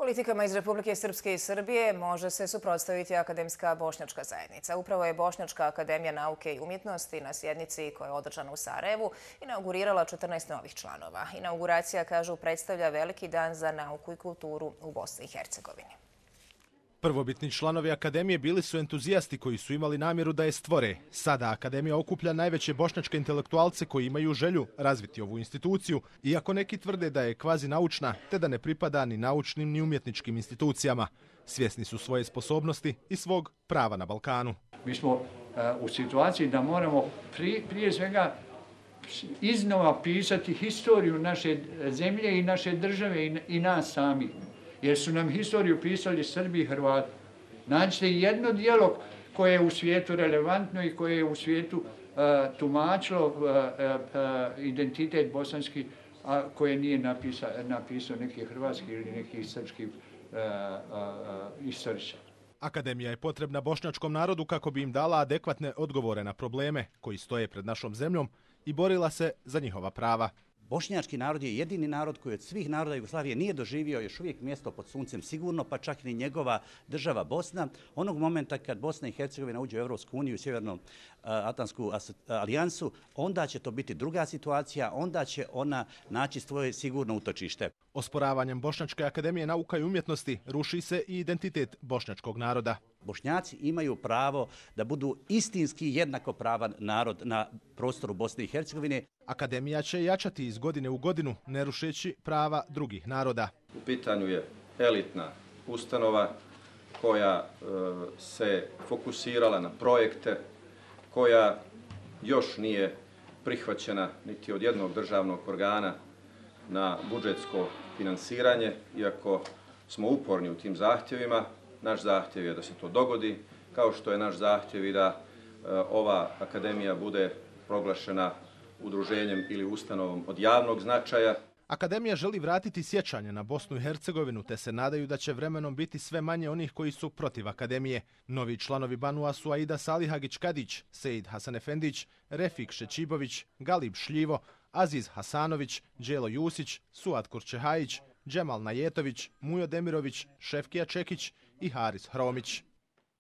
Politikama iz Republike Srpske i Srbije može se suprotstaviti akademska bošnjačka zajednica. Upravo je Bošnjačka akademija nauke i umjetnosti na sjednici koja je održana u Sarajevu inaugurirala 14 novih članova. Inauguracija, kažu, predstavlja veliki dan za nauku i kulturu u Bosni i Hercegovini. Prvobitni članovi akademije bili su entuzijasti koji su imali namjeru da je stvore. Sada akademija okuplja najveće bošnjačke intelektualce koji imaju želju razviti ovu instituciju, iako neki tvrde da je kvazi naučna te da ne pripada ni naučnim ni umjetničkim institucijama. Svjesni su svoje sposobnosti i svog prava na Balkanu. Mi smo u situaciji da moramo prije svega iznova pisati historiju naše zemlje i naše države i nas samih. Jer su nam historiju pisali Srbi i Hrvati. Nađite jedno djelo koje je u svijetu relevantno i koje je u svijetu tumačilo identitet bosanski, a koje nije napisao neki hrvatski ili neki srpski istoričar. Akademija je potrebna bošnjačkom narodu kako bi im dala adekvatne odgovore na probleme koji stoje pred našom zemljom i borila se za njihova prava. Bošnjački narod je jedini narod koji od svih naroda Jugoslavije nije doživio još uvijek mjesto pod suncem sigurno, pa čak ni njegova država Bosna. Onog momenta kad Bosna i Hercegovina uđe u Europsku uniju i Sjevernoatlantsku alijansu, onda će to biti druga situacija, onda će ona naći svoje sigurno utočište. Osporavanjem Bošnjačke akademije nauka i umjetnosti ruši se i identitet bošnjačkog naroda. Bošnjaci imaju pravo da budu istinski jednakopravan narod na prostoru Bosne i Hercegovine. Akademija će jačati iz godine u godinu, ne rušeći prava drugih naroda. U pitanju je elitna ustanova koja se fokusirala na projekte, koja još nije prihvaćena niti od jednog državnog organa na budžetsko finansiranje, iako smo uporni u tim zahtjevima. Naš zahtjev je da se to dogodi, kao što je naš zahtjev i da ova akademija bude proglašena udruženjem ili ustanovom od javnog značaja. Akademija želi vratiti sjećanje na Bosnu i Hercegovinu, te se nadaju da će vremenom biti sve manje onih koji su protiv akademije. Novi članovi Banua su Aida Salihagić-Kadić, Sejid Hasanefendić, Refik Šećibović, Galib Šljivo, Aziz Hasanović, Đelo Jusić, Suad Kurčehajić, Džemal Najetović, Mujo Demirović, Šefkija Čekić i Haris Hromić.